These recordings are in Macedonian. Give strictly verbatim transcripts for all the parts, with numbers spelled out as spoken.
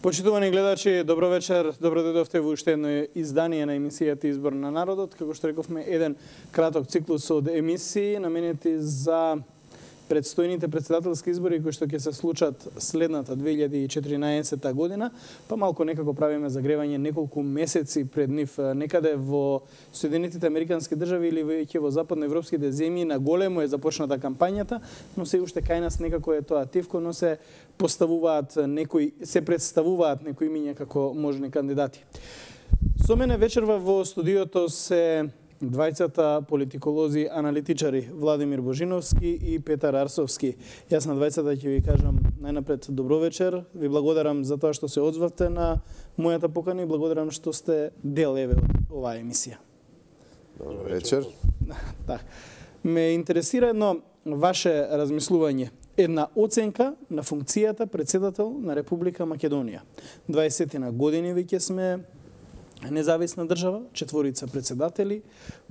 Почитувани гледачи, добро вечер. Добро дојдовте во уште едно издание на емисијата Избор на народот. Како што рековме, еден краток циклус од емисии наменети за предстојните председателски избори кои што ќе се случат следната две илјади и четиринаесетта година, па малку некако правиме загревање неколку месеци пред нив. Некаде во Соединетите Американски држави или веќе во западноевропските земји на големо е започната кампањата, но се уште кај нас некако е тоа тивко, но се поставуваат некои, се представуваат некои имиња како можни кандидати. Со мене вечерва во студиото се двајцата политиколози, аналитичари Владимир Божиновски и Петар Арсовски. Јас на двајцата ќе ви кажам најнапред добро вечер. Ви благодарам за тоа што се одзвавте на мојата покана и благодарам што сте дел еве од оваа емисија. Добро вечер. Так. Ме интересира едно ваше размислување. Една оценка на функцијата председател на Република Македонија. дваесет години веќе сме независна држава, четворица председатели,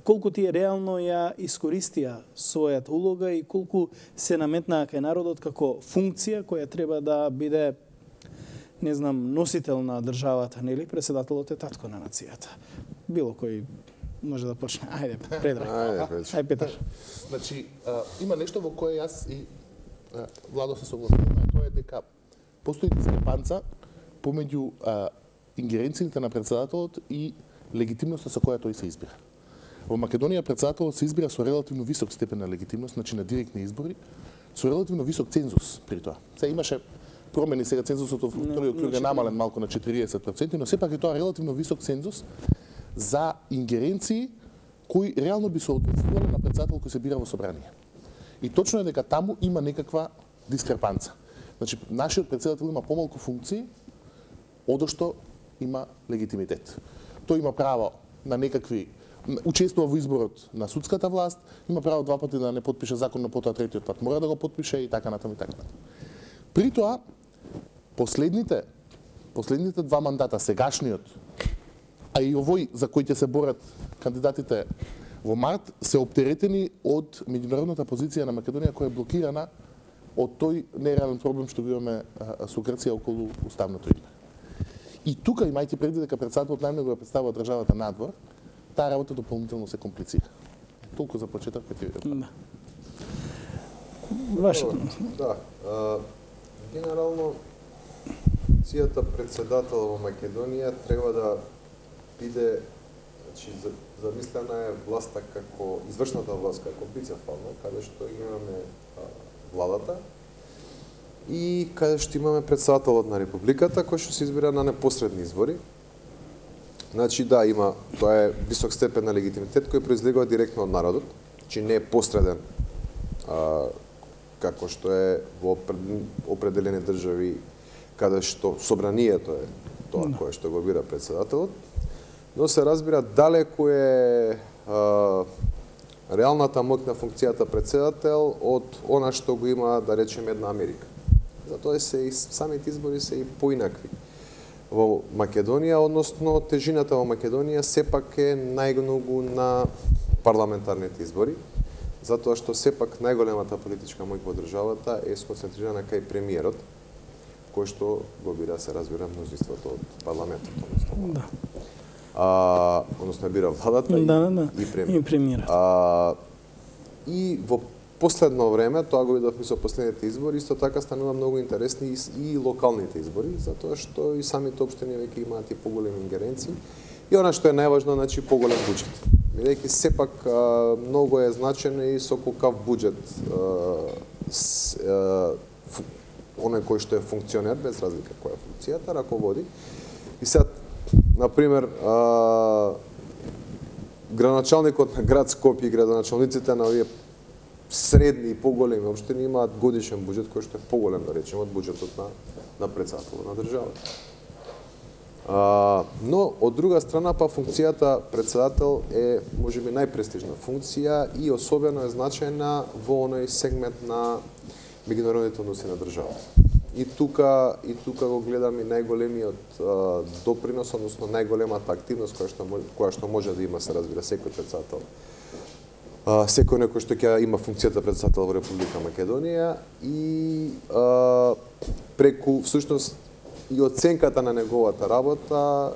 колку тие реално ја искористија својата улога и колку се наметнаа кај народот како функција која треба да биде, не знам, носител на државата, нели? Председателот е татко на нацијата. Било кој може да почне. Ајде, Предраг. Ајде, Ајде, Петар. Значи, а, има нешто во кое јас и а, Владо се согласуваме, тоа е дека постои дискрепанца помеѓу а, ингеренциите на председателот и легитимноста со која тој се избира. Во Македонија председателот се избира со релативно висок степен на легитимност, значи на директни избори, со релативно висок цензус при тоа. Се имаше промени, сега цензусот во вториот круг е намален малку на четириесет проценти, но сепак е тоа релативно висок цензус за ингеренции кои реално би се однесувале на председател кој се бира во собрание. И точно е дека таму има некаква дискрепанца. Значи, нашиот председател има помалку функции, одошто има легитимитет. Тој има право на некакви, учествува во изборот на судската власт, има право два пати да не потпише закон, но потоа третиот пат мора да го потпише и така натаму и така натаму. При тоа, последните, последните два мандата, сегашниот, а и овој за кој ќе се борат кандидатите во март, се оптеретени од меѓународната позиција на Македонија која е блокирана од тој нереален проблем што го имаме со Грција околу уставното име. И тука, имајќи предвид дека председателот најмногу ја представува државата надвор, таа работа дополнително се комплицира. Толку за почеток ќе ти видам. Да. Ваше. Да. А, генерално, функцијата председател во Македонија треба да биде, значи, замислена е власта како, извршната власт како бицефална, каде што имаме а, владата, и каде што имаме председателот на Републиката, кој што се избира на непосредни избори. Значи, да, има, тоа е висок степен на легитимитет кој произлегува директно од народот, значи не е посреден, а, како што е во определени држави, каде што собранието е тоа кое што го бира председателот, но се разбира далеку е а, реалната моќ на функцијата председател од она што го има, да речеме, една Америка. Затоа се и самите избори се и поинакви. Во Македонија, односно тежината во Македонија сепак е најмногу на парламентарните избори, затоа што сепак најголемата политичка моќ во државата е сконцентрирана кај премиерот, кој што го бира, се разбира, мнозинството од парламентот, односно. Да. А, односно бира владата да, и, да, да. и премиер. И премиерот. А, и во последно време, тоа го видовме со последните избори, исто така станува многу интересни и, и локалните избори, затоа што и самите општини веќе имаат и поголеми ингеренции. И она што е најважно, значи поголем буџет. Бидејќи сепак а, многу е значено и со колкав буџет оној кој што е функционер, без разлика која е функцијата, раководи. И сега, например, а, градоначалникот на град Скопје и градоначалниците на овие средни и поголеми општини имаат годишен буџет кој што е поголем, да речеме, од буџетот на, на председателот на државата. А, но, од друга страна, па функцијата председател е, можеби, најпрестижна функција и особено е значајна во оној сегмент на меѓународните односи на државата. И тука, и тука го гледам и најголемиот а, допринос, односно најголемата активност која што, која што може да има, се разбира, секој председател. Uh, секој некој што ќе има функцијата председател во Република Македонија и uh, преку, всушност, и оценката на неговата работа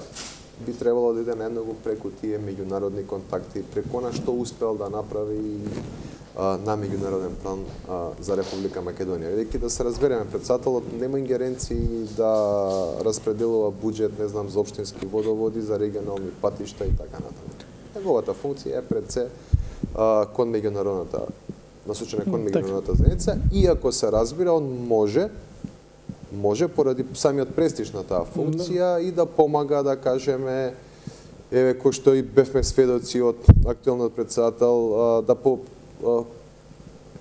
би требало да иде најмногу преку тие меѓународни контакти, преку она што успел да направи а, на меѓународен план а, за Република Македонија. Бидејќи да се разбереме, претседателот нема ингеренции да распределува буџет, не знам, за општински водоводи, за регионални патишта и така натаму. Неговата функција е пред се а, кон меѓународната насочена кон меѓународната заедница, и ако се разбира, он може може поради самиот престиж на таа функција и да помага, да кажеме, еве кој што и бевме сведоци од актуелниот претседател, да по,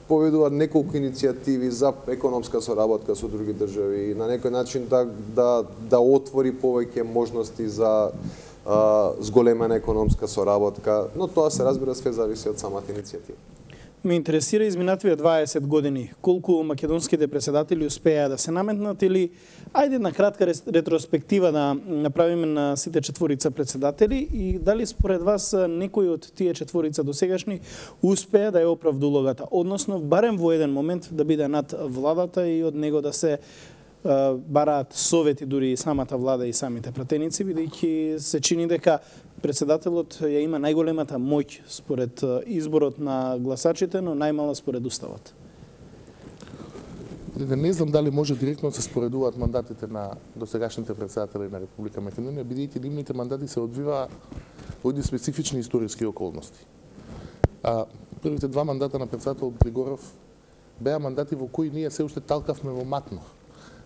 поведува неколку иницијативи за економска соработка со други држави, на некој начин да да да отвори повеќе можности за а, зголемена економска соработка, но тоа се разбира све зависи од самата иницијатива. Ме интересира изминативе дваесет години, колку македонските председатели успеа да се наметнат, или ајде на кратка ретроспектива да направиме на сите четворица председатели, и дали според вас некој од тие четворица досегашни успеа да ја оправда улогата, односно барем во еден момент да биде над владата и од него да се бараат совети дури и самата влада и самите пратеници, бидејќи се чини дека председателот ја има најголемата моќ според изборот на гласачите, но најмала според уставот. Не знам дали може директно да се споредуваат мандатите на досегашните председатели на Република Македонија, бидејќи нивните мандати се одвива во едни специфични историски околности. А првите два мандата на председателот Григоров беа мандати во кои ние се уште талкавме во матно.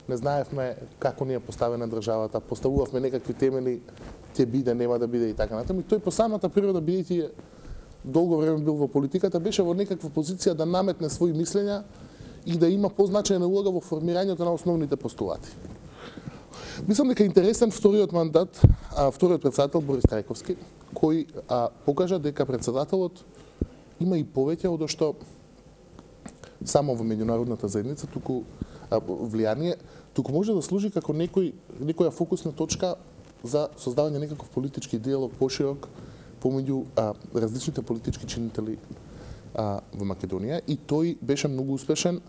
Не знаевме како ни е поставена државата, поставувавме некакви темели, ќе биде, нема да биде и така натаму. И тој по самата природа, бидејќи долго време бил во политиката, беше во некаква позиција да наметне своји мислења и да има позначајна улога во формирањето на основните постулати. Мислам дека интересен вториот мандат, а, вториот председател Борис Трајковски, кој а, покажа дека председателот има и повеќе од што само во меѓународната заедница, туку а, влијание, туку може да служи како некој некоја фокусна точка за создавање некаков политички диалог поширок помеѓу а, различните политички чинители а, во Македонија, и тој беше многу успешен,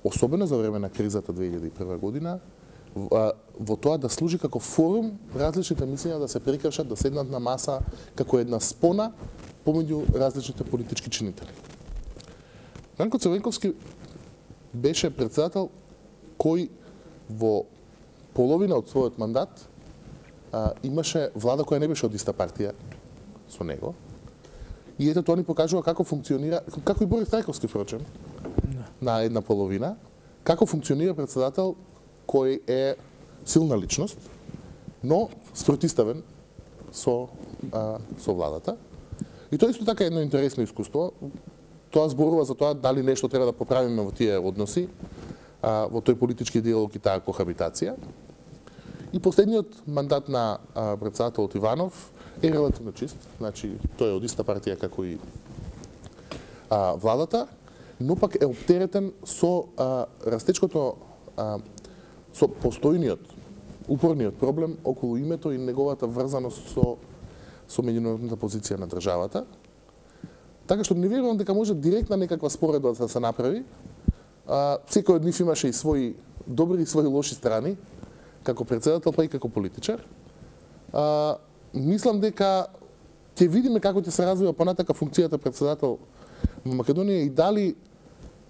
особено за време на кризата две илјади и прва година, во, во тоа да служи како форум различните мислења да се прекршат, да седнат на маса како една спона помеѓу различните политички чинители. Ранко Црвенковски беше председател кој во половина од својот мандат а, имаше влада која не беше од иста партија со него. И ето тоа ни покажува како функционира, како и Борис Трајковски, впрочем, на една половина, како функционира председател кој е силна личност, но спротиставен со, а, со владата. И тоа исто така е едно интересно искуство. Тоа зборува за тоа дали нешто треба да поправиме во тие односи, а, во тој политички диалог и таа кохабитација. И последниот мандат на а, председателот Иванов е релативно чист, значи тој е од иста партија како и а, владата, но пак е оптеретен со а, растечкото, а, со постојниот, упорниот проблем околу името и неговата врзаност со со меѓународната позиција на државата. Така што не верувам дека може директна некаква споредба да се направи. А, секој од нив имаше и своји добри и своји лоши страни, како председател, па и како политичар. А, мислам дека ќе видиме како ќе се развива понатака функцијата председател во Македонија и дали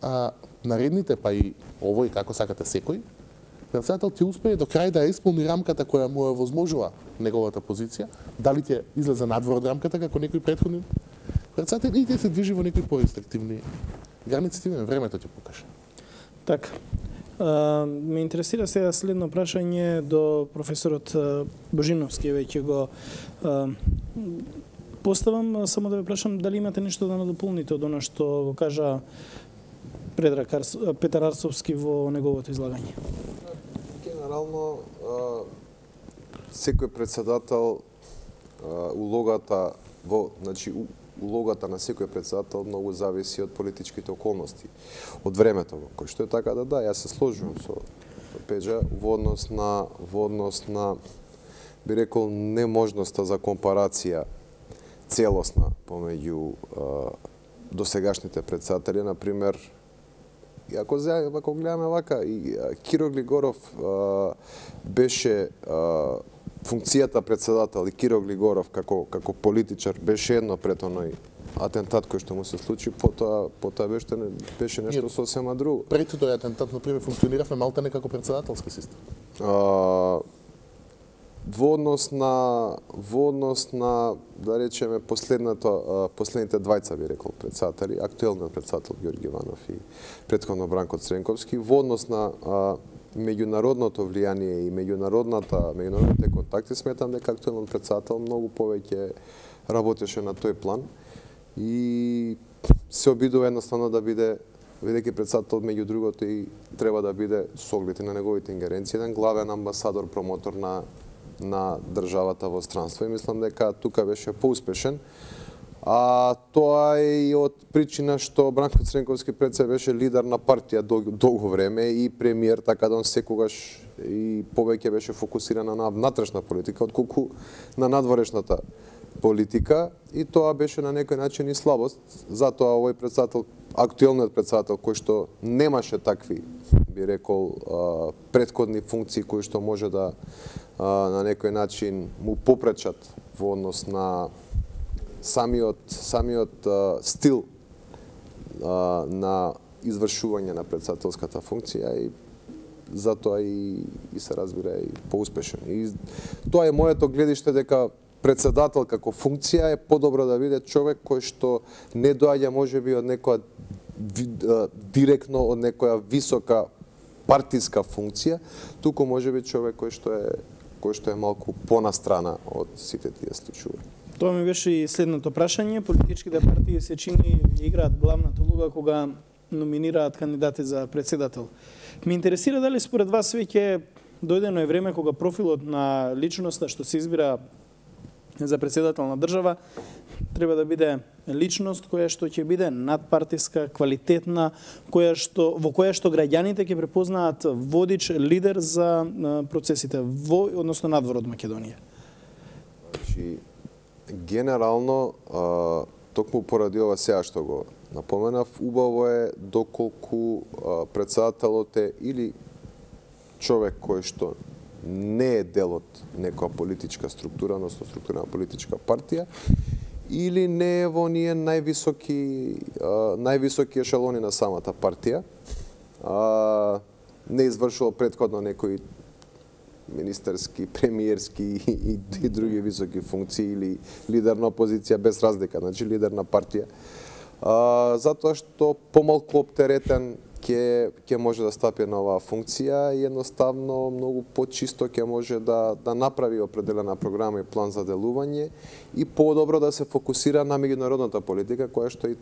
а, наредните, па и овој, како сакате секој, председател ќе успее до крај да исполни рамката која му е возможува неговата позиција, дали ќе излезе надвор од рамката како некои претходни председатели и ќе се движи во некои порестриктивни граници, времето ќе покаже. Така. Uh, ме интересира сега следно прашање до професорот uh, Божиновски, веќе го uh, поставам, само да ве прашам дали имате нешто да надополните од она што го кажа Предраг Арс... Петар Арсовски во неговото излагање. Генерално, а, секој председател, а, улогата во, значи, улогата на секој председател многу зависи од политичките околности, од времето во кој што е, така да да, јас се сложувам со Пеџа во однос на во однос на би рекол неможноста за компарација целосна помеѓу а, досегашните председатели, на пример И ако, ако гледаме вака, и Киро Глигоров а, беше а, функцијата председател и Киро Глигоров како како политичар беше едно пред оној атентат кој што му се случи, потоа потоа беше беше нешто сосема друго. Пред тој атентат, например, функциониравме малтане како председателски систем. А, во однос на во однос на, да речеме, последното последните двајца, би рекол, председатели, актуелниот председател Ѓорѓи Иванов и претходно Бранко Цренковски, во однос на а, меѓународното влијание и меѓународната меѓународните контакти, сметам дека актуелниот председател многу повеќе работеше на тој план и се обидува едноставно да биде, бидејќи председател меѓу другото и треба да биде со оглед на неговите ингеренции еден главен амбасадор, промотор на на државата во странство и мислам дека тука беше поуспешен. А тоа е и од причина што Бранко Цренковски пред се беше лидер на партија долго, долго време и премиер, така да он секогаш и повеќе беше фокусиран на внатрешна политика отколку на надворешната политика и тоа беше на некој начин и слабост. Затоа овој председател, актуелниот председател кој што немаше такви, би рекол, претходни функции кои што може да на некој начин му попречат во однос на самиот самиот а, стил а, на извршување на председателската функција и затоа и, и се разбира и поуспешен. И тоа е моето гледиште дека председател како функција е подобро да биде човек кој што не доаѓа можеби од некоја директно од некоја висока партиска функција, туку можеби човек кој што е кој што е малку понастрана од сите тие случаи. Тоа ми беше и следното прашање. Политичките партии се чини играат главната улога кога номинираат кандидати за председател. Ме интересира дали според вас веќе дојдено е време кога профилот на личноста што се избира за председател на држава треба да биде личност која што ќе биде надпартиска, квалитетна, која што во која што граѓаните ќе препознаат водич, лидер за процесите во односно надвор од Македонија. Значи генерално а, токму поради ова сега што го напоменав, убаво е доколку а, председателот е или човек кој што не е дел од некоја политичка структура, односно структура на политичка партија, или не е во ние највисоки а, највисоки ешелони на самата партија, а, не извршува претходно некои министерски, премиерски и, и, и други високи функции или лидер на опозиција без разлика, значи лидер на партија. А, затоа што помалку оптеретен ќе ќе може да стапи на оваа функција и едноставно многу почисто ќе може да да направи определена програма и план за делување и подобро да се фокусира на меѓународната политика која што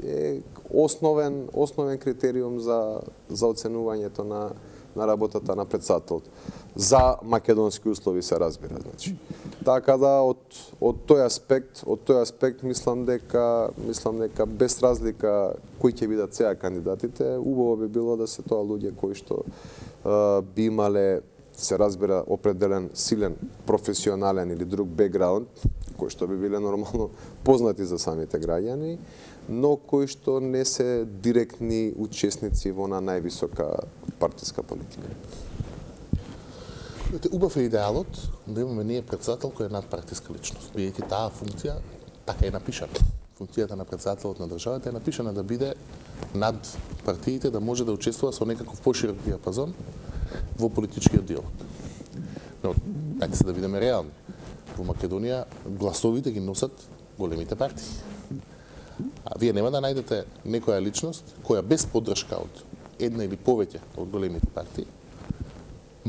е основен основен критериум за за оценувањето на на работата на председателот. За македонски услови се разбира, значи. Така да од од тој аспект, од тој аспект мислам дека мислам дека без разлика кои ќе бидат сега кандидатите, убаво би било да се тоа луѓе кои што а, би имале, се разбира, определен силен професионален или друг бекграунд, кои што би биле нормално познати за самите граѓани, но кои што не се директни учесници во на највисока партиска политика. Убав е идеалот да имаме ние председател кој е надпартиска личност, бидејќи таа функција така е напишана. Функцијата на председателот на државата е напишана да биде над партиите, да може да учествува со некаков поширок диапазон во политичкиот диалог. Но, ајде се да бидеме реални. Во Македонија гласовите ги носат големите партии. А вие нема да најдете некоја личност која без поддршка од една или повеќе од големите партии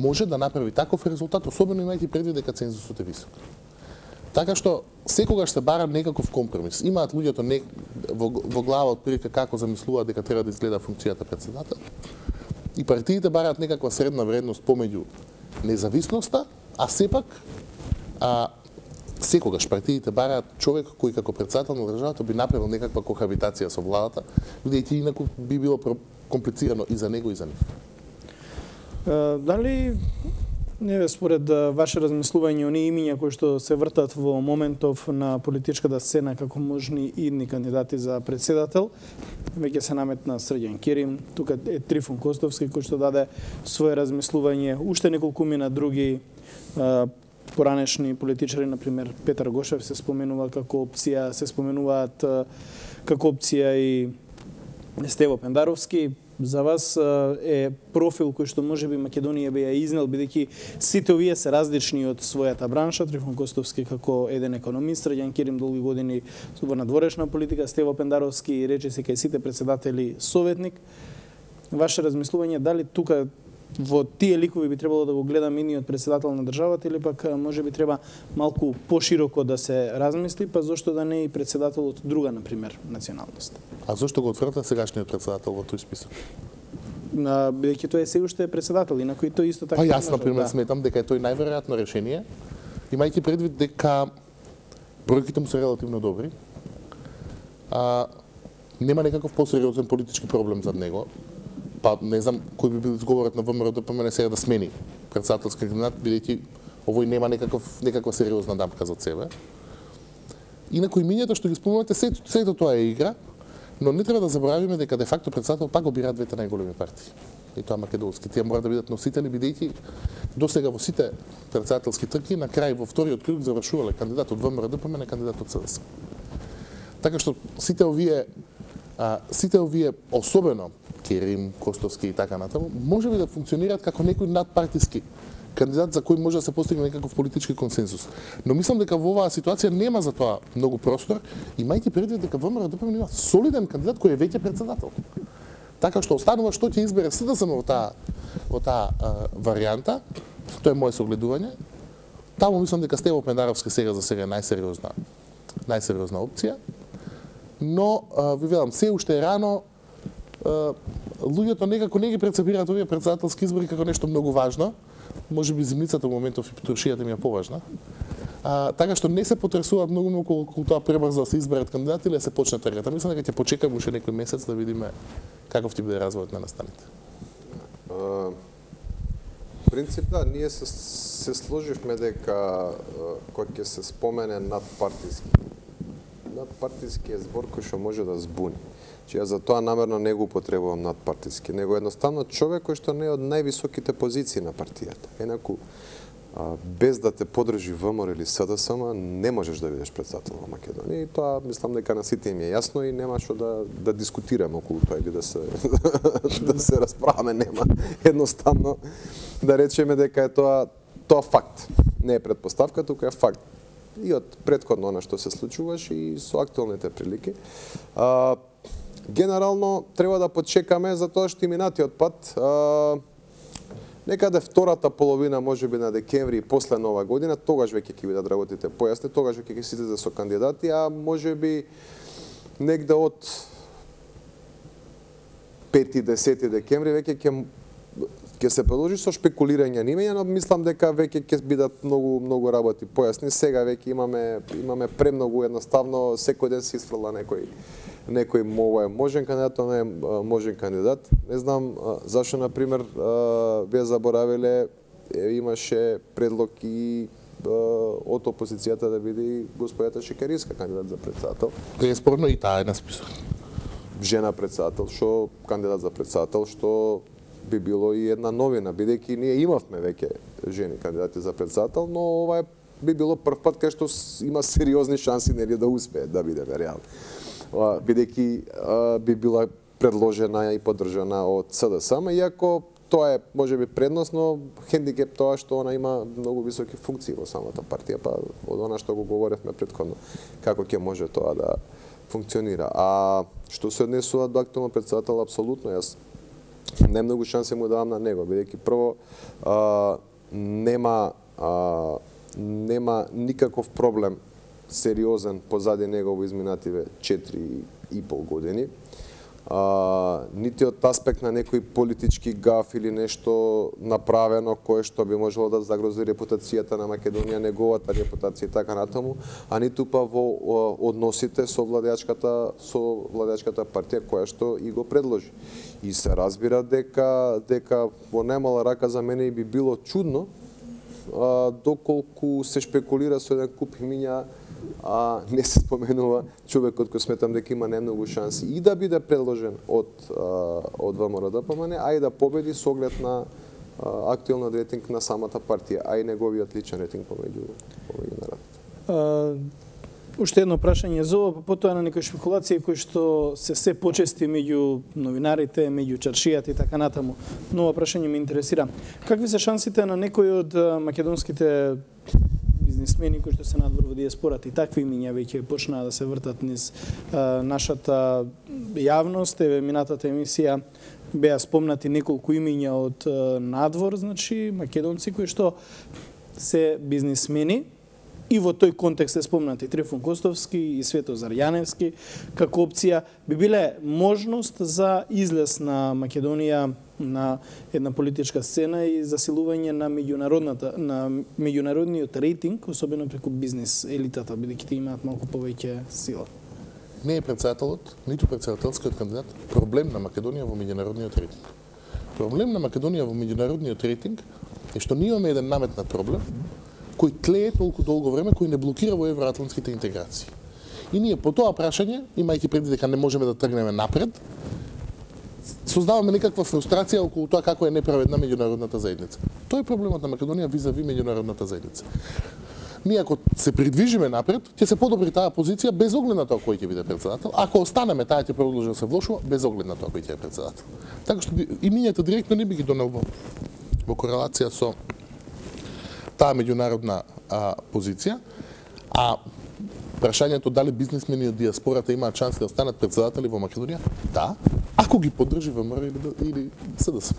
може да направи таков резултат, особено имајќи предвид дека цензусот е висок. Така што секогаш се бара некаков компромис. Имаат луѓето не, во, во глава отприлика како замислуваат дека треба да изгледа функцијата председател. И партиите бараат некаква средна вредност помеѓу независноста, а сепак а, секогаш партиите бараат човек кој како председател на државата би направил некаква кохабитација со владата, бидејќи инаку би било комплицирано и за него и за нив. Дали Не, според ваше размислување, оние имиња кои што се вртат во моментов на политичката сцена како можни идни кандидати за председател, веќе се наметна Срđan Керим, тука е Трифун Костовски кој што даде свое размислување, уште неколку мина други а, поранешни политичари, например Петар Гошев се споменува како опција, се споменуваат а, како опција и Стево Пендаровски. За вас е профил кој што можеби Македонија би ја изнел, бидејќи сите овие се различни од својата бранша. Трифун Костовски како еден економист, Срđan Керим долги години во надворешна политика, Стево Пендаровски рече се кај сите председатели советник. Ваше размислување, дали тука во тие ликови би требало да го гледаме иниот председател на државата или пак може би треба малку пошироко да се размисли, па зошто да не и председател од друга, например, националност? А зошто го отврта сегашниот председател во тој список? На бидејќи тој е се уште председател и на кој тој исто така. Па јас на пример да. сметам дека е тој најверојатно решение, имајќи предвид дека бројките му се релативно добри. А нема некаков посериозен политички проблем зад него. Па не знам кој би бил изговорот на ВМРО-ДПМН сега да смени председателски кандидат, бидејќи овој нема некаков некаква сериозна дамка зад себе. Инаку имињата што ги спомнувате, сето, сето тоа е игра, но не треба да заборавиме дека де факто председател пак го бираат двете најголеми партии. И тоа македонски. Тие мора да бидат носители, бидејќи досега во сите председателски трки на крај во вториот круг завршувале кандидат од ВМРО-ДПМН, кандидат од СДС. Така што сите овие а, сите овие особено Керим, Костовски и така натаму, може би да функционираат како некој надпартиски кандидат за кој може да се постигне некаков политички консенсус. Но мислам дека во оваа ситуација нема за тоа многу простор, имајќи предвид дека ВМРО-ДПМН има солиден кандидат кој е веќе председател. Така што останува што ќе избере СДСМ во таа во таа варијанта, тоа е мое согледување. Таму мислам дека Стево Пендаровски сега за сега е најсериозна најсериозна опција. Но а, ви велам, се уште е рано. Uh, луѓето некако не ги прецепираат овие председателски избори како нешто многу важно. Може би зимницата во моментов и петрошијата ми е поважна. Uh, така што не се потресуваат многу околу, околу тоа пребрзо да се изберат кандидати или да се почне тргата. Мислам дека ќе почекаме уште некој месец да видиме каков ќе биде развојот на настаните. Uh, принцип да, ние се, се сложивме дека uh, кој ќе се спомене надпартиски. Надпартиски е збор кој што може да збуни. Ја за тоа намерно не го употребувам надпартиски, него едноставно човек кој што не е од највисоките позиции на партијата. Енаку, а, без да те подржи ВМРО или СДСМ, не можеш да бидеш председател во Македонија. И тоа мислам дека на сите им е јасно и нема што да да дискутираме околу тоа или да се да се расправаме, нема. Едноставно да речеме дека е тоа тоа факт. Не е претпоставка, туку е факт. И од претходно она што се случуваше и со актуелните прилики. А, Генерално треба да почекаме за тоа што и минатиот пат а, некаде втората половина можеби на декември и после нова година, тогаш веќе ќе бидат работите појасни, тогаш веќе ќе се излезе со кандидати, а можеби негде од пети десети декември веќе ќе ќе се продолжи со шпекулирање на имења, но мислам дека веќе ќе бидат многу многу работи појасни. Сега веќе имаме имаме премногу, едноставно секој ден се исфрла некој некој мој можен кандидат, не е можен кандидат. Не знам зашто на пример вие заборавиле имаше предлог и од опозицијата да биде господјата Шекериска кандидат за председател. Неспорно и таа е на список. Жена председател, што кандидат за председател, што би било и една новина, бидејќи ние имавме веќе жени кандидати за председател, но ова е, би било прв пат кај што има сериозни шанси нели да успее да бидеме реални. Бидејќи би била предложена и поддржана од СДСМ, иако тоа е можеби предност, но хендикеп тоа што она има многу високи функции во самата партија, па од она што го говоревме претходно, како ќе може тоа да функционира. А што се однесува до актуелно председател, апсолутно јас не многу шанси му давам на него, бидејќи прво а, нема а, нема никаков проблем сериозен позади него во изминативе четири и пол години. А, нити од аспект на некој политички гаф или нешто направено кое што би можело да загрози репутацијата на Македонија, неговата репутација и така натаму, а ниту па во односите со владеачката со владеачката партија која што и го предложи. И се разбира дека дека во најмала рака за мене би било чудно а, доколку се шпекулира со еден куп имиња, а не се споменува човекот кој сметам дека има најмногу шанси и да биде предложен од а, од ВМРО-ДПМН, а и да победи со оглед на а, актуелниот рейтинг на самата партија, а и неговиот личен рейтинг помеѓу помеѓу народот. Уште едно прашање за ова, потоа на некои шпекулации кои што се се почести меѓу новинарите, меѓу чаршијата и така натаму. Но ова прашање ме интересира. Какви се шансите на некои од македонските бизнисмени кои што се надвор во диаспората и такви имиња веќе почнаа да се вртат низ а, нашата јавност? Еве минатата емисија беа спомнати неколку имиња од а, надвор, значи македонци кои што се бизнисмени. И во тој контекст се спомнати Трифун Костовски и Светозар Јаневски како опција, би биле можност за излез на Македонија на една политичка сцена и засилување на меѓународната на меѓународниот рейтинг, особено преку бизнис елитата, бидејќи тие имаат малку повеќе сила. Не е претседателот, ниту претседателскиот кандидат проблем на Македонија во меѓународниот рейтинг. Проблем на Македонија во меѓународниот рейтинг е што ние имаме еден наметнат проблем кој тлее толку долго време, кој не блокира во евроатлантските интеграции. И ние по тоа прашање, имајќи предвид дека не можеме да тргнеме напред, создаваме некаква фрустрација околу тоа како е неправедна меѓународната заедница. Тоа е проблемот на Македонија визави меѓународната заедница. Ние ако се придвижиме напред, ќе се подобри таа позиција без оглед на тоа кој ќе биде претседател. Ако останеме, таа ќе продолжи да се влошува без оглед на тоа кој ќе е претседател. Така што имињата директно не би ги донел во, во корелација со таа меѓународна а, позиција, а прашањето дали бизнисмени од диаспората имаат шанси да станат претседатели во Македонија, да, ако ги поддржи ВМРО или, или СДСМ.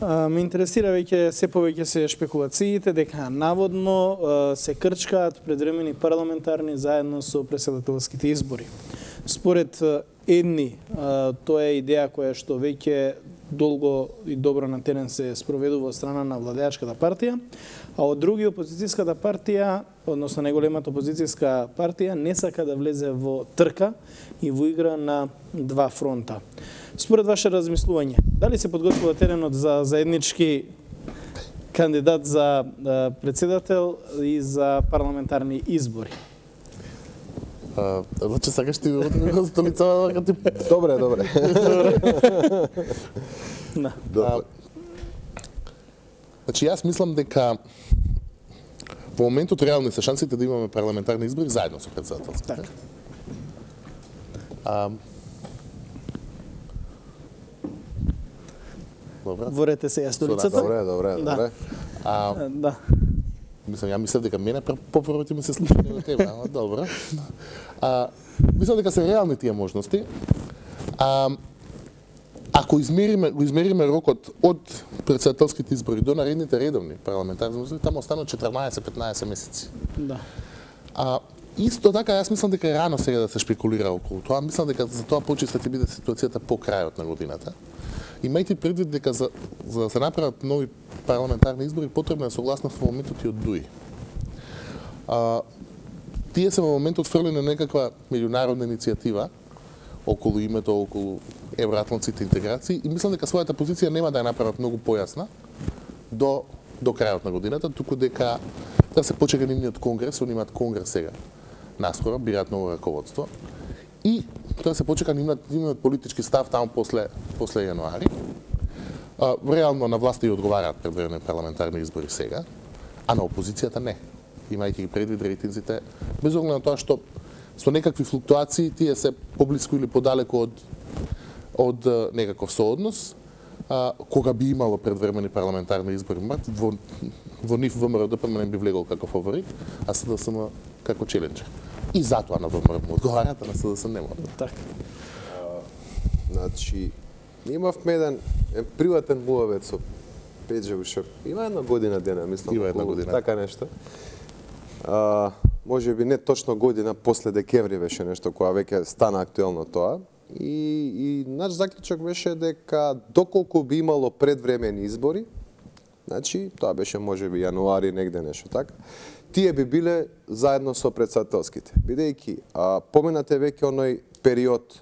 Ме интересира веќе се повеќе се шпекулациите дека наводно се крчкаат предвремени парламентарни заедно со претседателските избори. Според едни, тоа е идеја која што веќе долго и добро на терен се спроведува од страна на владеачката партија, а од други опозицијската партија, односно најголемата опозицијска партија, не сака да влезе во трка и во игра на два фронта. Според ваше размислување, дали се подготвува теренот за заеднички кандидат за председател и за парламентарни избори? Значи сакаш ти да столицава дека ти Добре, добре. Да. Добре. Значи јас мислам дека во моментот реални се шансите да имаме парламентарни избори заедно со претседателските. Така. А, Добре. Ворете се ја столицата. Добре, добре, добре. А, Да. Мислам, ја мислев дека мене попрво ти ми се случи на тебе, ама добро. А, мислам дека се реални тие можности. А, ако измериме, го измериме рокот од претседателските избори до наредните редовни парламентарни избори, таму останат четрнаесет-петнаесет месеци. Да. А, исто така, јас мислам дека е рано сега да се шпекулира околу тоа. Мислам дека за тоа почиста ќе биде ситуацијата по крајот на годината. Имајте предвид дека за, за да се направат нови парламентарни избори потребна е согласност во моментот и од ДУИ. А, тие се во моментот фрлени на некаква меѓународна иницијатива околу името, околу евроатлантските интеграции и мислам дека својата позиција нема да ја направат многу појасна до до крајот на годината, туку дека да се почека нивниот конгрес, они имаат конгрес сега наскоро, бираат ново раководство. И тоа се почека нивниот, нивниот политички став таму после после јануари. А, реално на власта и одговараат предвремени парламентарни избори сега, а на опозицијата не. Имајќи ги предвид рейтинзите, без оглед на тоа што со некакви флуктуации тие се поблиску или подалеку од од некаков сооднос, а, кога би имало предвремени парламентарни избори, во во нив ВМРО-ДПМН би влегол како фаворит, а СДСМ како челенџер. И затоа на ВМРО му одговараат, а на СДСМ не може. Така. Значи, имавме еден, еден приватен муавет со Пеџа Ушак. Има една година дена, мислам. Има една година. Така нешто. А, може би не точно година после декември беше нешто која веќе стана актуелно тоа. И, и наш заклучок беше дека доколку би имало предвремени избори, значи тоа беше може би јануари негде нешто така, тие би биле заедно со претседателските. Бидејќи поминате веќе оној период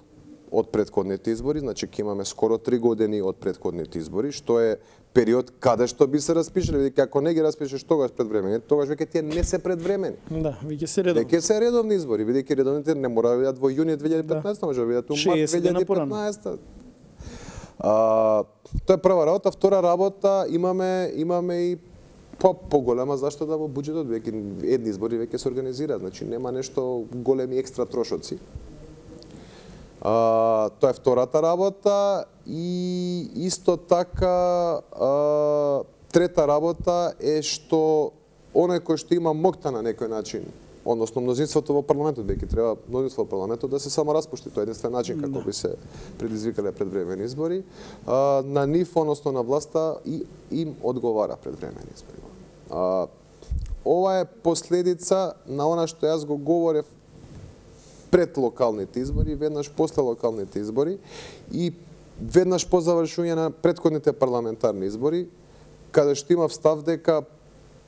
од претходните избори, значи ќе имаме скоро три години од претходните избори, што е период каде што би се распишале, бидејќи ако не ги распишеш тогаш предвремени, тогаш веќе тие не се предвремени. Да, веќе се редовни. Веќе се редовни избори, бидејќи редовните не мора да бидат во јуни две илјади и петнаесета, може да бидат во март две илјади и петнаесета. А, тоа е прва работа, втора работа, имаме имаме и по поголема заштеда во буџетот, веќе едни избори веќе се организираат, значи нема нешто големи екстра трошоци. А, тоа е втората работа и исто така а, трета работа е што оној кој што има моќта на некој начин, односно мнозинството во парламентот, веќе треба мнозинство во парламентот да се само распушти, тоа е единствен начин како би се предизвикале предвремени избори, а, на нив, односно на власта и им одговара предвремени избори. А, ова е последица на она што јас го говорев пред локалните избори, веднаш после локалните избори и веднаш по завршување на претходните парламентарни избори, каде што имав став дека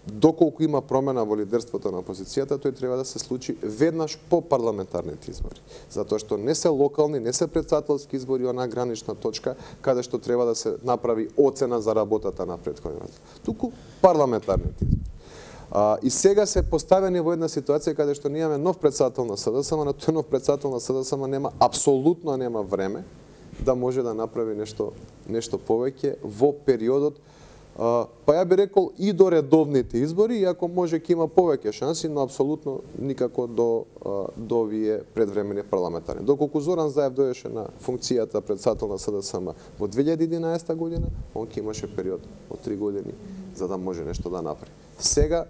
доколку има промена во лидерството на опозицијата, тој треба да се случи веднаш по парламентарните избори. Затоа што не се локални, не се претседателски избори, она гранична точка каде што треба да се направи оцена за работата на претходните. Туку парламентарните избори. А, и сега се поставени во една ситуација каде што ние имаме нов претседател на СДСМ, на тој нов претседател на СДСМ нема апсолутно нема време да може да направи нешто нешто повеќе во периодот. Uh, па ја би рекол и до редовните избори, иако може ќе има повеќе шанси, но апсолутно никако до uh, до овие предвремени парламентарни. Доколку Зоран Заев дојдеше на функцијата претседател на СДСМ во две илјади и единаесета година, он ќе имаше период од три години за да може нешто да направи. Сега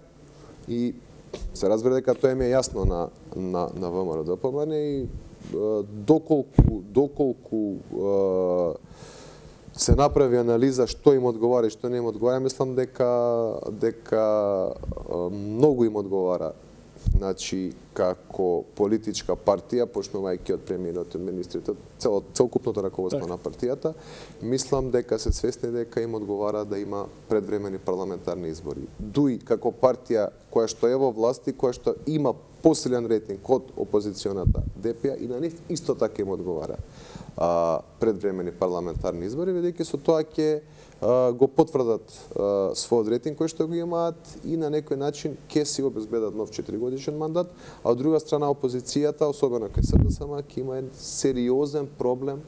и се разбира дека тоа ми е јасно на на на ВМРО-ДПМН и uh, доколку доколку uh, се направи анализа што им одговара и што не им одговара, мислам дека дека многу им одговара, значи како политичка партија, почнувајќи од премиерот и министрите, цел целокупното раководство так на партијата, мислам дека се свесни дека им одговара да има предвремени парламентарни избори. Дуи како партија која што е во власт и која што има посилен рейтинг од опозиционата ДП и на нив исто така им одговара а, предвремени парламентарни избори, бидејќи со тоа ќе го потврдат а, својот рейтинг кој што го имаат и на некој начин ќе си обезбедат нов четиригодишен мандат, а од друга страна опозицијата, особено кај СДСМ, ќе има еден сериозен проблем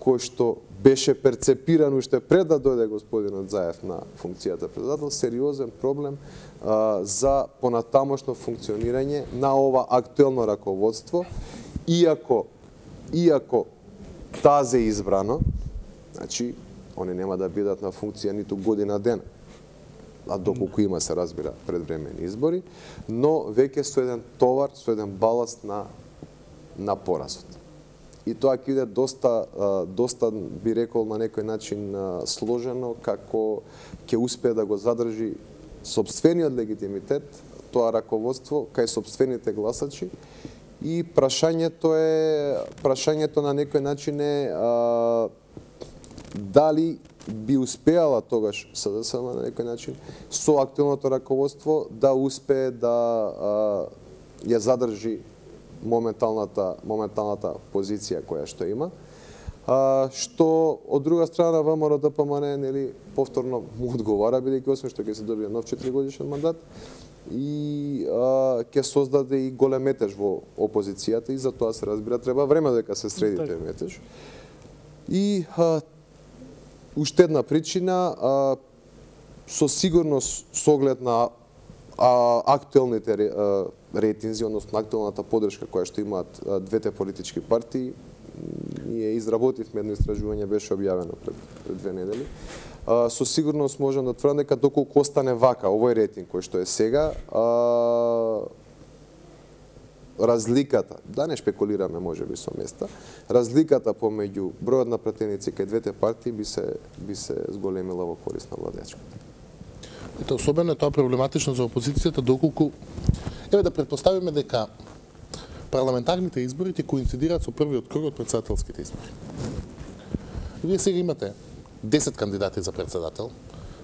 кој што беше перцепиран уште пред да дојде господинот Заев на функцијата председател, сериозен проблем а, за понатамошно функционирање на ова актуелно раководство, иако иако тазе избрано, значи они нема да бидат на функција ниту година ден, а доколку има се разбира предвремени избори, но веќе со еден товар, со еден баласт на на поразот. И тоа ќе биде доста доста би рекол на некој начин сложено, како ќе успее да го задржи сопствениот легитимитет, тоа раководство кај сопствените гласачи. И прашањето е прашањето на некој начин е а, дали би успеала тогаш СДСМ на некој начин со актуелното раководство да успее да а, ја задржи моменталната моменталната позиција која што има. А, што од друга страна ВМРО-ДПМН нели повторно му одговара, бидејќи освен што ќе се добие нов четиригодишен мандат и а, ќе создаде и голем метеж во опозицијата и за тоа се разбира треба време дека се среди тој метеж. И а, уште една причина, а, со сигурност со оглед на а, актуелните а, рейтинзи, односно актуелната подршка која што имаат а, двете политички партии, ние изработивме едно истражување, беше објавено пред, пред две недели. А, со сигурност можам да тврдам дека доколку остане вака овој рейтинг кој што е сега, а, разликата, да не шпекулираме можеби со места, разликата помеѓу бројот на пратеници кај двете партии би се би се зголемила во корист на владеачката. Ето, особено е тоа проблематично за опозицијата, доколку еве да претпоставиме дека парламентарните избори ќе коинцидираат со првиот круг од претседателските избори. Вие сега имате десет кандидати за председател.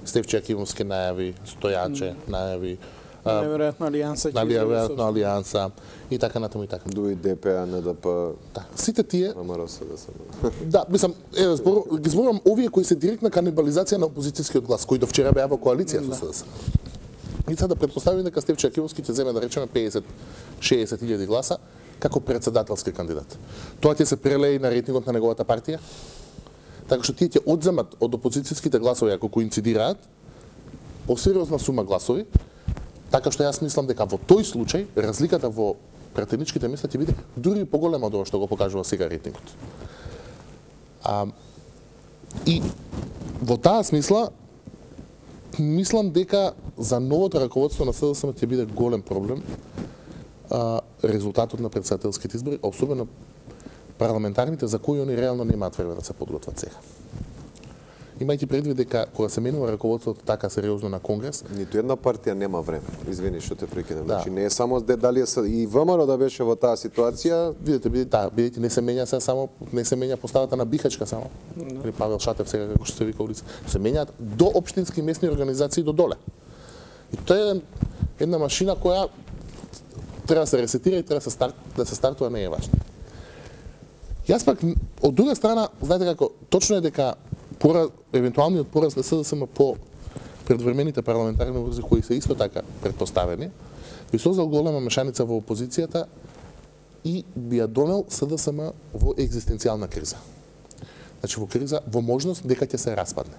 Стефче Акимовски најави, Стојаче најави, Најверојатно алијанса ќе најверојатно алијанса и така натаму и така. Дуи ДП, НДП. Да, сите тие ВМРО СДСМ. Да, мислам, е, збор, ги зборувам овие кои се директна канибализација на опозицијскиот глас, кои до вчера беа во коалиција со СДСМ. И сега да претпоставиме дека Стефче Акимовски ќе земе да речеме песет шеесет илјади гласа како председателски кандидат. Тоа ќе се прелее на рейтингот на неговата партија, така што тие ќе одземат од опозицијските гласови ако коинцидираат посериозна сума гласови, така што јас мислам дека во тој случај разликата во пратеничките места ќе биде дури поголема од ова што го покажува сега рейтингот. А, и во таа смисла мислам дека за новото раководство на СДСМ ќе биде голем проблем а, резултатот на претседателските избори, особено парламентарните за кои они реално немаат време да се подготват сега. Имајќи предвид дека кога се менува раководството така сериозно на Конгрес, ниту една партија нема време. Извини што те прекинам. Да. Значи не е само дали е и ВМРО да беше во таа ситуација, видите, бидете, да, бидете не се менја се само не се менја поставата на Бихачка само. Или no. Павел Шатев сега како што се вика улица. Се менјаат до општински и местни организации до доле. И тоа е една машина која треба да се ресетира и треба да се старт, да се стартува, не е важно. Јас пак од друга страна, знаете како, точно е дека пора, евентуалниот пораз на СДСМ по предвремените парламентарни выбори кои се исто така претпоставени, би создал голема мешаница во опозицијата и би ја донел СДСМ во екзистенцијална криза. Значи во криза, во можност дека ќе се распадне.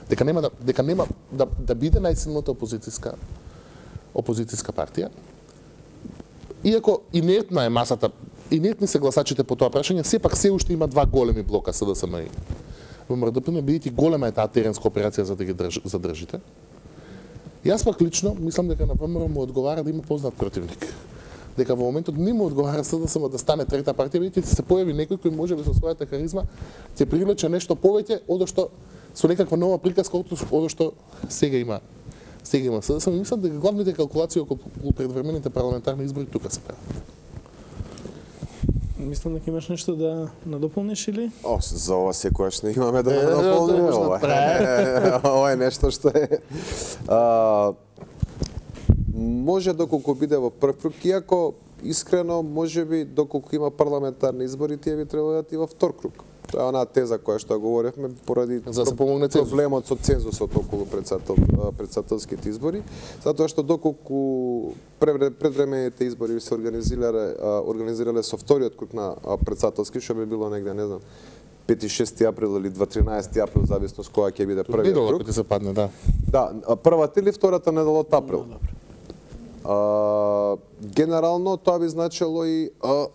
Дека нема да дека нема да да биде најсилната опозицијска опозицијска партија. Иако инертна е масата, инертни се гласачите по тоа прашање, сепак се уште има два големи блока СДСМ и ВМРО, бидејќи голема е таа теренска операција за да ги држ, задржите. Јас пак лично мислам дека на ВМРО му одговара да има познат противник. Дека во моментот не му одговара СДСМ да стане трета партија, бидејќи ќе се појави некој кој може би со својата харизма ќе привлече нешто повеќе од што со некаква нова приказка од што сега има сега има СДСМ. Мислам дека главните калкулации околу предвремените парламентарни избори тука се прават. Мислам дека имаш нешто да надополниш или? О, за ова секогаш не имаме да надополниме ова. Ова е нешто што е а, може доколку биде во прв круг, иако искрено можеби доколку има парламентарни избори, тие би требало да и во втор круг. Тоа е онаа теза која што говоревме поради за да помогне проблемот со цензусот околу председател, председателските избори, затоа што доколку предвремените избори се организирале организирале со вториот круг на председателски, што би било негде, не знам, пети шести април или дваесет април, зависност која ќе биде првиот круг. Ќе се падне, да. Да, првата или втората недела од април. А, генерално тоа би значило и а,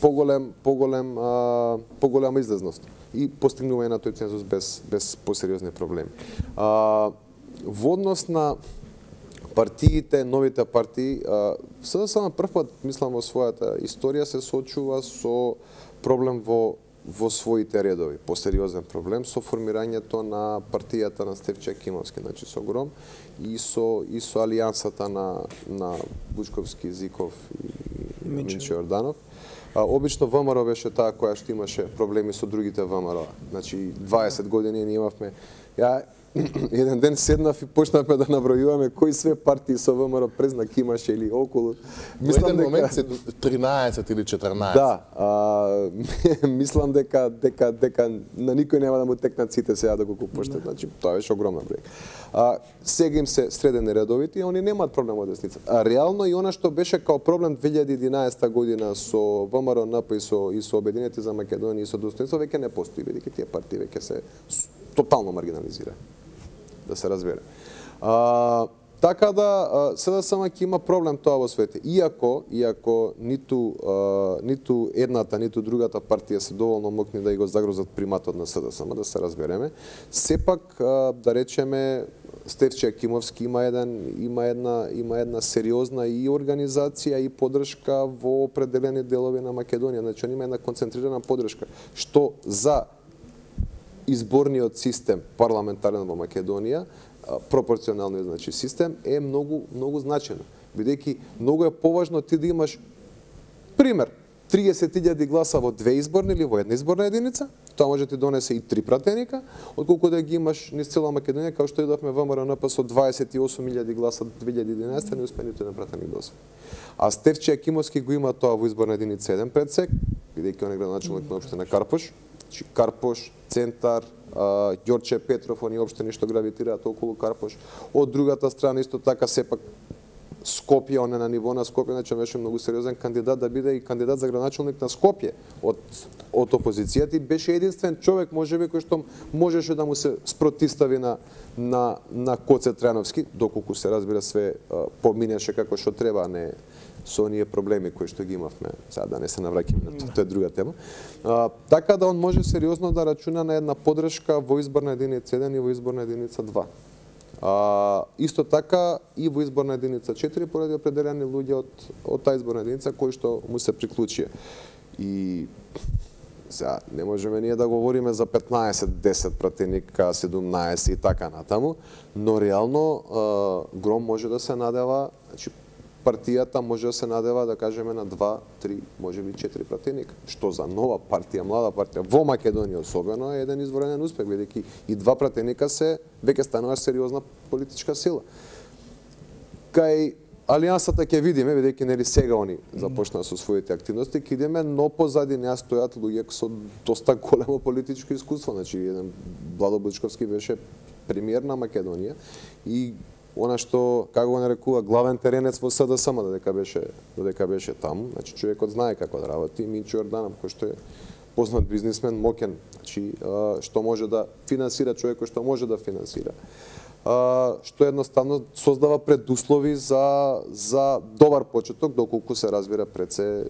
поголем поголем а, поголема излезност и постигнување на тој цензус без без посериозни проблеми. А, во однос на партиите, новите партии, а, СДСМ на прв пат, мислам, во својата историја се соочува со проблем во во своите редови, посериозен проблем со формирањето на партијата на Стефче Акимовски, значи со Гром и со и со алијансата на на Бучковски, Зиков и Минчо Јорданов. А, обично ВМРО беше таа која што имаше проблеми со другите ВМРО. Значи дваесет години ние имавме. Ја еден ден седнав и почнавме да набројуваме кои све партии со ВМРО презнак имаше или околу. Мислам дека момент се тринаесет или четрнаесет. Да, а, мислам дека дека дека на никој нема да му текнат сите сега да го почнат. Значи тоа беше огромна бројка. А сега им се средени редовите и они немаат проблем од десница. А реално и она што беше као проблем две илјади и единаесета година со ВМРО, НП и со и со Обединети за Македонија и со Достоинство веќе не постои, бидејќи тие партии веќе се тотално маргинализирани. Да се разбере. А, така да СДСМ ќе има проблем тоа во свете. Иако, иако ниту а, ниту едната, ниту другата партија се доволно мокни да и го загрозат приматот на СДСМ, да се разбереме, сепак а, да речеме Стефче Акимовски има еден има една има една сериозна и организација и поддршка во определени делови на Македонија. Значи има една концентрирана поддршка што за изборниот систем парламентарен во Македонија, пропорционалниот значи систем е многу многу значено, бидејќи многу е поважно ти да имаш пример триесет илјади гласа во две изборни или во една изборна единица, тоа може да ти донесе и три пратеника, отколку да ги имаш низ цела Македонија, као што идовме ВМРО-НП со дваесет и осум илјади гласа две илјади и единаесетта, не успеа ниту еден пратеник да освои. А Стефче Акимовски го има тоа во изборна единица еден предсек, бидејќи он е градоначелник на општина Карпош. Карпош, Центар, Ѓорче Петров, они општини што гравитираат околу Карпош. Од другата страна исто така сепак Скопје, он е на ниво на Скопје, значи беше многу сериозен кандидат да биде и кандидат за градоначелник на Скопје од од опозицијата и беше единствен човек можеби кој што можеше да му се спротистави на на на Коце Трајановски, доколку се разбира све поминеше како што треба, не со оние проблеми кои што ги имавме. Сега да не се навраќаме на тоа, тоа е друга тема. А, така да он може сериозно да рачуна на една подршка во изборна единица еден и во изборна единица два. А, исто така и во изборна единица четири поради определени луѓе од од таа изборна единица кои што му се приклучија. И сега не можеме ние да говориме за петнаесет, десет пратеника, седумнаесет и така натаму, но реално а, Гром може да се надева, значи партијата може да се надева, да кажеме, на два, три, можеби четири пратеника, што за нова партија, млада партија, во Македонија особено, е еден изворен успех, бидејќи и два пратеника се веќе станува сериозна политичка сила. Кај Алијансата ќе видиме, бидејќи нели сега они започнаа со своите активности, ќе идеме, но позади неа стојат луѓе со доста големо политичко искуство, значи еден Владо Бучковски беше премиер на Македонија и она што, како го нарекува, главен теренец во СДСМ, додека беше, додека беше таму, значи човекот знае како да работи, Минчо Јорданов, кој што е познат бизнисмен, мокен, значи што може да финансира, човекот што може да финансира. Што едноставно создава предуслови за за добар почеток, доколку се разбира пред се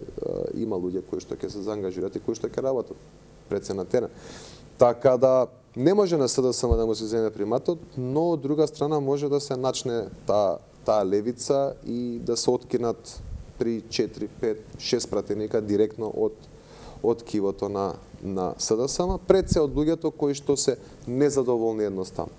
има луѓе кои што ќе се заангажираат и кои што ќе работат пред се на терен. Така да не може на СДСМ да му се земе приматот, но од друга страна може да се начне таа таа левица и да се откинат три, четири, пет, шест пратеника директно од од кивото на на СДСМ, пред се од луѓето кои што се незадоволни едноставно.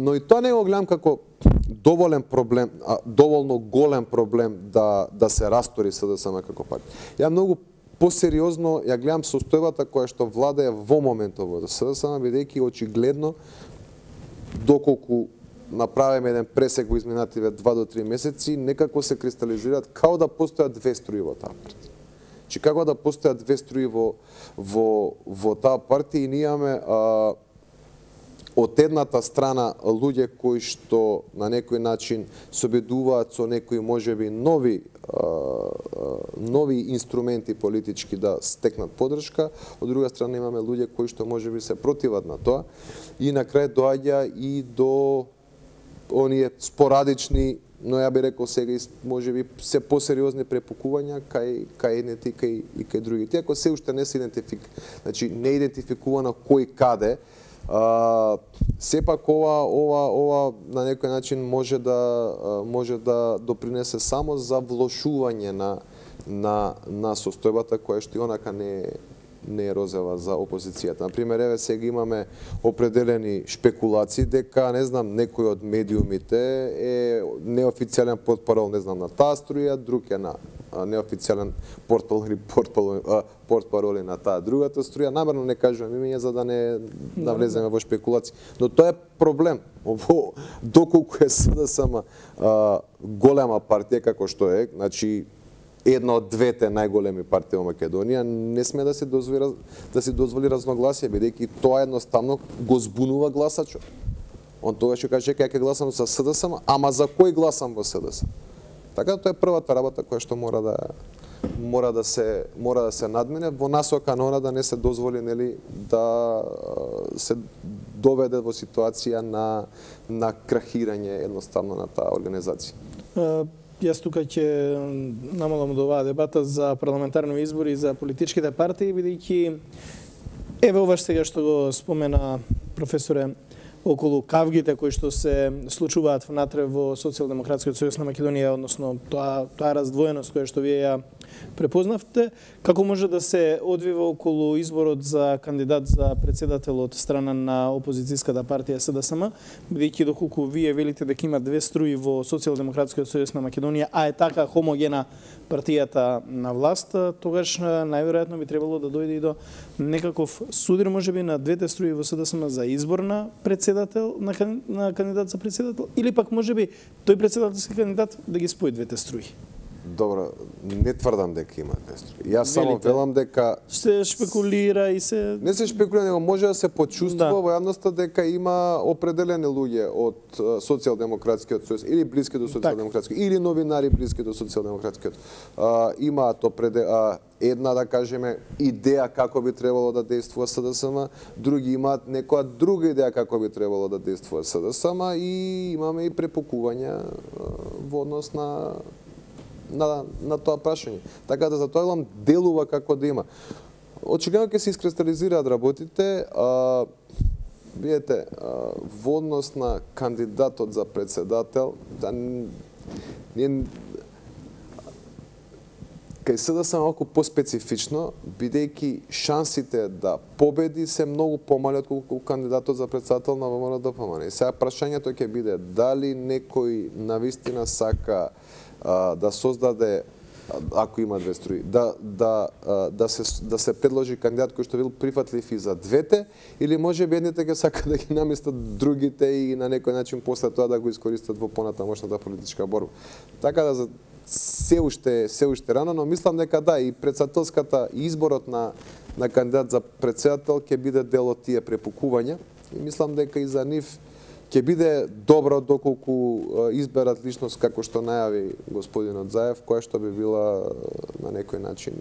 Но и тоа не го гледам како доволен проблем, а, доволно голем проблем да да се растори СДСМ како партија. Ја многу посериозно ја гледам состојбата која што владее во моментот во СДСМ, бидејќи очигледно доколку направиме еден пресек во изминативе два до три месеци, некако се кристализираат као да постојат две струи во таа партија. Чи како да постојат две струи во во во таа партија и ние имаме а, од едната страна луѓе кои што на некој начин се обидуваат со некои можеби нови а, нови инструменти политички да стекнат поддршка, од друга страна имаме луѓе кои што можеби се противат на тоа и на крај доаѓа и до оние спорадични, но ја би рекол сега и можеби се посериозни препукувања кај кај едните и кај и кај другите. Ако се уште не се идентифик, значи не идентификувано кој каде, а, сепак ова ова ова на некој начин може да може да допринесе само за влошување на на на состојбата која што и онака не не е розова за опозицијата. Например, еве сега имаме определени шпекулации дека, не знам, некој од медиумите е неофицијален портпарол, не знам, на таа струја, друг е на неофицијален портпарол или портпароли на таа другата струја. Намерно не кажувам имења за да не навлеземе во шпекулации. Но тоа е проблем. Ово, доколку е СДСМ голема партија како што е, значи една од двете најголеми партии во Македонија, не сме да се дозволи да се дозволи разногласие, бидејќи тоа едноставно го збунува гласачот. Он тогаш ќе каже дека ќе гласам за СДСМ, ама за кој гласам во СДСМ? Така тоа е првата работа која што мора да мора да се мора да се надмине во насока на она да не се дозволи, нели, да се доведе во ситуација на на крахирање едноставно на таа организација. Јас тука ќе намалам од оваа дебата за парламентарни избори и за политичките партии, бидејќи еве ова сега што го спомена професоре околу кавгите кои што се случуваат внатре во Социјалдемократскиот сојуз на Македонија, односно тоа тоа раздвоеност која што вие ја препознавте, како може да се одвива околу изборот за кандидат за председател од страна на опозицијската партија С Д С М, бидејќи доколку вие велите дека има две струи во Социјалдемократскиот сојуз на Македонија, а е така хомогена партијата на власт, тогаш најверојатно би требало да дојде и до некаков судир можеби на двете струи во С Д С М за избор на председател на, на кандидат за председател, или пак можеби тој председателски кандидат да ги спои двете струи. Добро, не тврдам дека има две струи. Јас само велам дека се шпекулира и се не се шпекулира, него може да се почувствува да. во јавноста дека има определени луѓе од Социјалдемократскиот сојуз или блиски до Социјалдемократскиот или новинари блиски до Социјалдемократскиот. Имаат определени една, да кажеме, идеја како би требало да действува С Д С М, други имаат некоја друга идеја како би требало да действува С Д С М и имаме и препукувања во однос на на на тоа прашање. Така да за тоа велам делува како да има. Очигледно ќе се искристализираат работите, а видете, а, во однос на кандидатот за председател, да ние кај С Д С М малку поспецифично, бидејќи шансите да победи се многу помали отколку кандидатот за председател на ВМРО Д П М Н. И сега прашањето ќе биде дали некој навистина сака а, да создаде, ако има две струи, да да да се да се предложи кандидат кој што бил прифатлив и за двете, или можеби едните ќе сака да ги наместат другите и на некој начин после тоа да го искористат во понатамошната политичка борба. Така да за се уште се уште рано, но мислам дека да, и председателската и изборот на на кандидат за председател ќе биде дел од тие препукувања и мислам дека и за нив ќе биде добро доколку изберат личност како што најави господинот Заев, која што би била на некој начин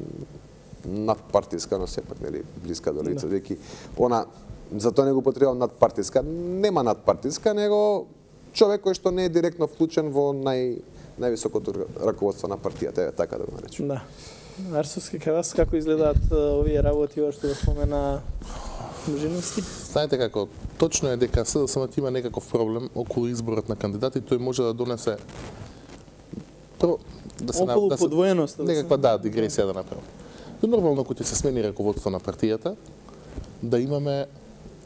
надпартиска, но сепак нели блиска до лице, деки она за тоа не го потребувам надпартиска, нема надпартиска, него човек кој што не е директно вклучен во нај највисокото раководство на партијата, е така да го наречем. Да. Арсовски, кај вас како изгледаат овие работи, ова што го спомена Божиновски? Знаете како, точно е дека С Д С М има некаков проблем околу изборот на кандидати, тој може да донесе прво да се околу да се, подвоеност, некаква да дигресија да направи. Нормално кога ќе се смени раководство на партијата, да имаме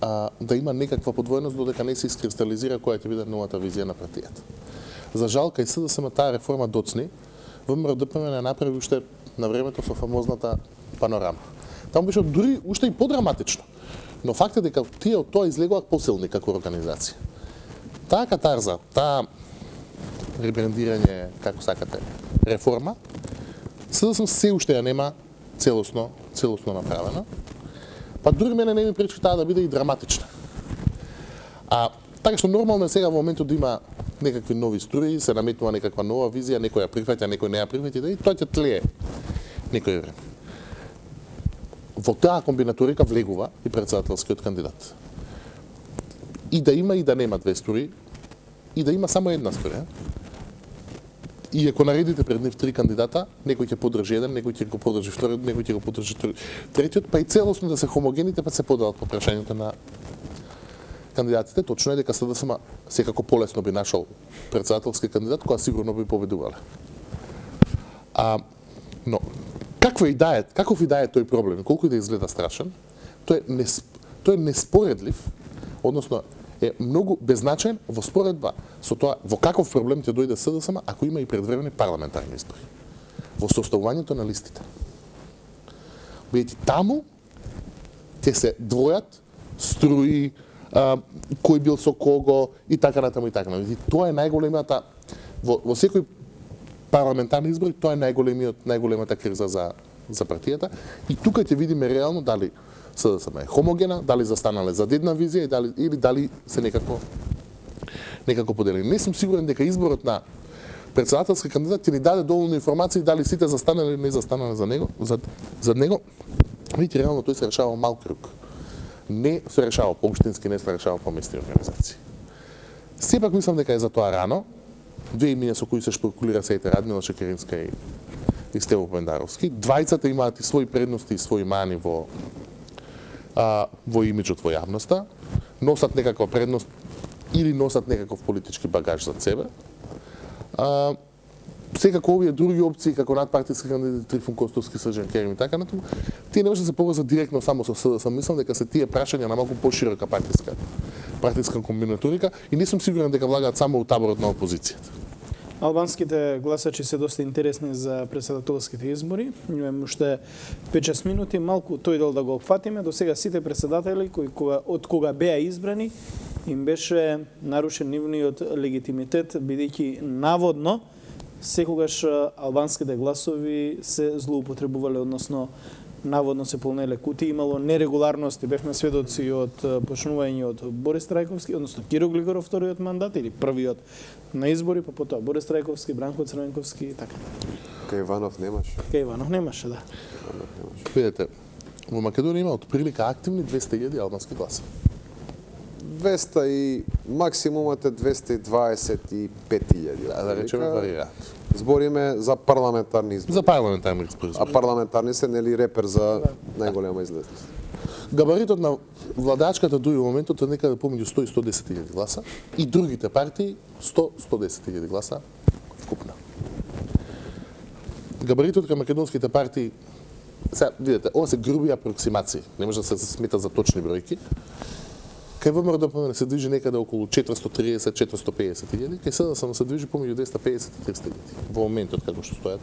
а, да има некаква подвоеност додека не се искристализира која ќе биде новата визија на партијата. За жал, кај С Д С М таа реформа доцни, ВМРО Д П М Н направи уште на времето со фамозната панорама. Таму беше дури уште и подраматично. Но фактот е дека тие од тоа излегуваат посилни како организација. Таа катарза, таа ребрендирање, како сакате, реформа, С Д С М се уште ја нема целосно, целосно направена. Па дури мене не ми пречи таа да биде и драматична. А така што нормално е сега во моментот да има некакви нови струи, се наметнува некаква нова визија, некој ја прифаќа, некој не ја прифаќа, и тоа ќе тлее некој време. Во таа комбинаторика влегува и председателскиот кандидат. И да има и да нема две струи, и да има само една струја. И ако наредите пред нив три кандидата, некој ќе подржи еден, некој ќе го подржи вториот, некој ќе го подржи третиот, па и целосно да се хомогените, па се поделат по прашањето на кандидатите. Точно е дека С Д С М секако полесно би нашол председателски кандидат, која сигурно би победувале. А, но, каква и да е, каков и да е тој проблем, колку и да изгледа страшен, тој е, несп, тој е неспоредлив, односно е многу беззначен во споредба со тоа во каков проблем ќе дојде С Д С М ако има и предвремени парламентарни избори. Во составувањето на листите. Бидејќи таму ќе се двојат струи, а, кој бил со кого и така натаму и така натаму. И тоа е најголемата во, во секој парламентарни избори, тоа е најголемиот најголемата криза за за партијата и тука ќе видиме реално дали С Д С М е хомогена, дали застанале за една визија и дали или дали се некако некако поделени. Не сум сигурен дека изборот на председателски кандидат ќе ни даде доволно информации дали сите застанале или не застанале за него, за за него. Видите, реално тој се решава мал круг. Не се решава по општински, не се решава по местни организации. Сепак мислам дека е за тоа рано. Две имиња со кои се шпекулира сеите Радмила Шекеринска и, и Стево Пендаровски. Двајцата имаат и своји предности и своји мани во а, во имиджот во јавноста. Носат некаква предност или носат некаков политички багаж за себе. А, секако овие други опции, како надпартиски кандидати Трифун Костовски, Срđan Керим и така натаму, тие не може да се поврзат директно само со СДС. Мислам дека се тие прашања на малку поширока партиска партиска комбинаторика и не сум сигурен дека влагаат само од таборот на опозицијата. Албанските гласачи се доста интересни за председателските избори. Имаме уште пет-шест минути, малку тој дел да го опфатиме. До сега сите председатели кои кога, од кога беа избрани им беше нарушен нивниот легитимитет, бидејќи наводно секогаш албанските гласови се злоупотребувале, односно наводно се полнеле кутии, имало нерегуларности, бевме сведоци од почнување од Борис Трајковски, односно Киро Глигоров вториот мандат или првиот на избори, па потоа Борис Трајковски, Бранко Црвенковски и така. Кај Иванов немаше. Кај Иванов немаше, да. Видете, во Македонија има отприлика активни двесте илјади албански гласа. двесте и максимумот е двесте и дваесет и пет илјади. Да, да речеме варира. Збориме за парламентарни избори. За парламентарни избори. А парламентарни се нели репер за најголема излезност. Габаритот на владачката дуи во моментот е некаде помеѓу сто и сто и десет илјади гласа и другите партии сто до сто и десет илјади гласа вкупно. Габаритот кај македонските партии, сега видите, ова се груби апроксимации, не може да се смета за точни бројки. Кај ВМРО-ДПМН се движи некаде околу четиристотини и триесет до четиристотини и пеесет илјади, кај СДСМ се движи помеѓу двесте и пеесет до триста илјади. Во моментот како што стојат.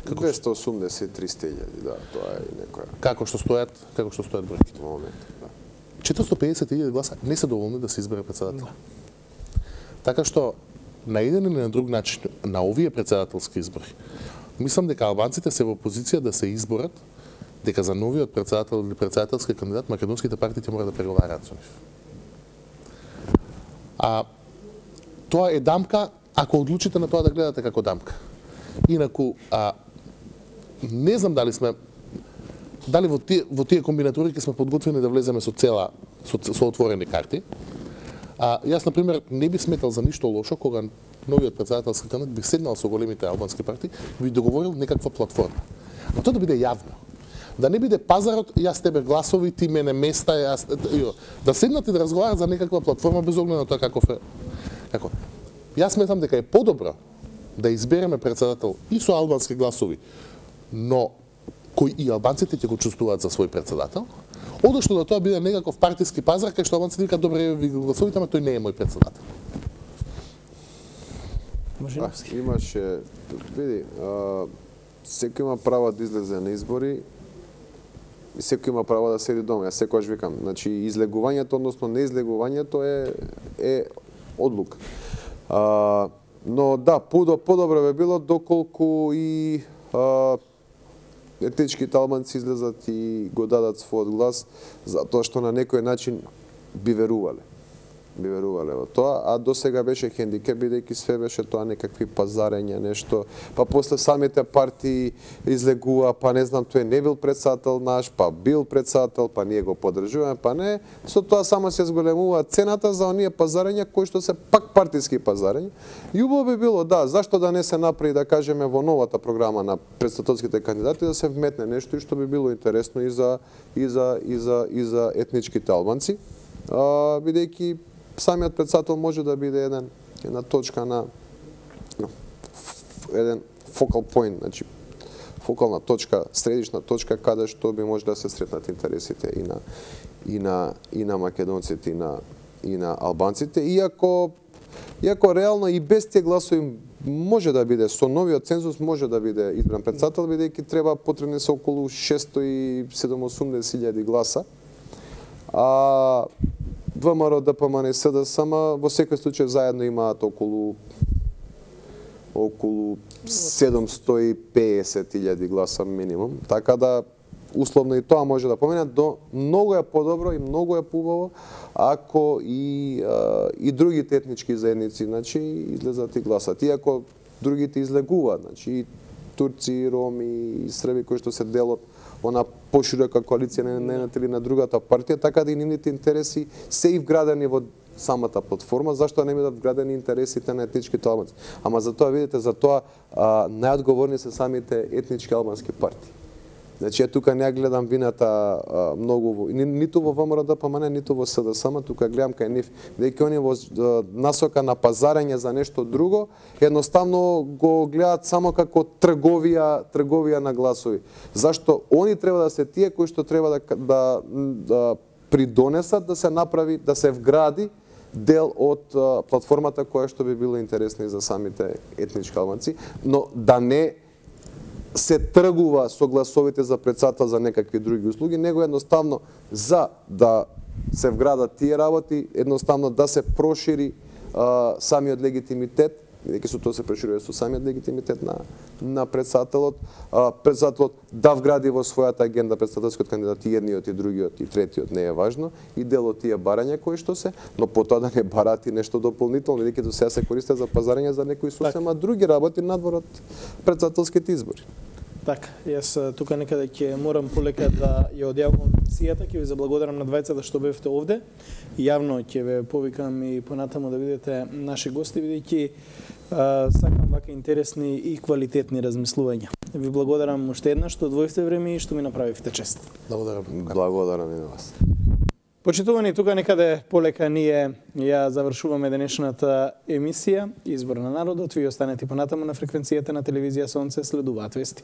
двесте и осумдесет до триста илјади, да, тоа е некоја. Како што стојат, како што стојат бројките во моментот, да. четиристотини и пеесет илјади гласа не се доволни да се избере председател. Така што на еден или на друг начин на овие председателски избори, мислам дека албанците се во позиција да се изборат дека за новиот председател или председателски кандидат македонските партии ќе мора да преговараат со нив. А тоа е дамка ако одлучите на тоа да гледате како дамка. Инаку а, не знам дали сме дали во тие во тие комбинаторики сме подготвени да влеземе со цела со, со отворени карти. А јас на пример не би сметал за ништо лошо кога новиот председателски кандидат би седнал со големите албански партии и би договорил некаква платформа. Но тоа да биде јавно. Да не биде пазарот, јас тебе гласови, ти мене места, јас да седнат и да разговарат за некаква платформа без оглед на тоа каков е. Како? Јас сметам дека е подобро да избереме председател и со албански гласови, но кои и албанците ќе го чувствуваат за свој председател, одошто да тоа биде некаков партиски пазар кај што албанците викаат добре ви гласовите, ама тој не е мој председател. А, имаше, види, а, секој има право да излезе на избори и секој има право да седи дома. Јас секогаш викам, значи излегувањето, односно неизлегувањето е е одлука. А, но да, подобро би било доколку и а, етничките албанци излезат и го дадат својот глас, затоа што на некој начин би верувале. Би верувале во тоа, а до сега беше хендикеп, бидејќи све беше тоа некакви пазарења, нешто, па после самите партии излегува, па не знам, тој не бил председател наш, па бил председател, па ние го поддржуваме, па не, со тоа само се зголемува цената за оние пазарења кои што се пак партиски пазарења. И убаво би било, да, зашто да не се направи, да кажеме, во новата програма на председателските кандидати да се вметне нешто и што би било интересно и за и за и за и за етничките албанци, а, бидејќи самиот председател може да биде еден една точка на no, еден focal point, значи фокална точка, средишна точка каде што би може да се сретнат интересите и на и на и на македонците и на и на албанците, иако иако реално и без тие гласови може да биде со новиот цензус може да биде избран председател, бидејќи треба потребни се околу шестстотини и седумдесет илјади гласа. А ВМРО, ДПМН и СДСМ во секој случај заедно имаат околу околу седумстотини и пеесет илјади гласа минимум, така да условно и тоа може да помине, до многу е подобро и многу е поубаво ако и а, и другите етнички заедници, значи излезат и гласат. Иако другите излегуваат, значи и турци, роми и срби кои што се дел од она поширока коалиција на едната или на другата партија, така да и нивните интереси се и вградени во самата платформа, зашто не бидат вградени интересите на етничките албанци. Ама за тоа, видите, за тоа а, најодговорни се самите етнички албански партии. Значи, ја тука не ја гледам вината а, многу во, ни, ниту во ВМРО-ДПМН, ниту во СДСМ, тука гледам кај нив, дека они во а, насока на пазарење за нешто друго, едноставно го гледаат само како трговија, трговија на гласови. Зашто они треба да се тие кои што треба да, да, да придонесат да се направи, да се вгради дел од а, платформата која што би било интересна и за самите етнички албанци, но да не се тргува со гласовите за председател за некакви други услуги, него едноставно за да се вградат тие работи, едноставно да се прошири а, самиот легитимитет, бидејќи со тоа се проширува со самиот легитимитет на на председателот, а, председателот да вгради во својата агенда председателскиот кандидат и едниот и другиот и третиот не е важно и дел од тие барања кои што се, но потоа да не барат и нешто дополнително, бидејќи до сега се користат за пазарење за некои сосема други работи надвор од председателските избори. Така, јас тука некаде ќе морам полека да ја одјавувам емисијата, ќе ви заблагодарам на двајцата што бевте овде. Јавно ќе ве повикам и понатаму да видите наши гости, бидејќи сакам вака интересни и квалитетни размислувања. Ви благодарам уште еднаш што одвоивте време и што ми направивте чест. Благодарам. Благодарам и на вас. Почитувани, тука некаде полека ние ја завршуваме денешната емисија Избор на народот. Ви останете понатаму на фреквенцијата на телевизија Сонце, следуваат вести.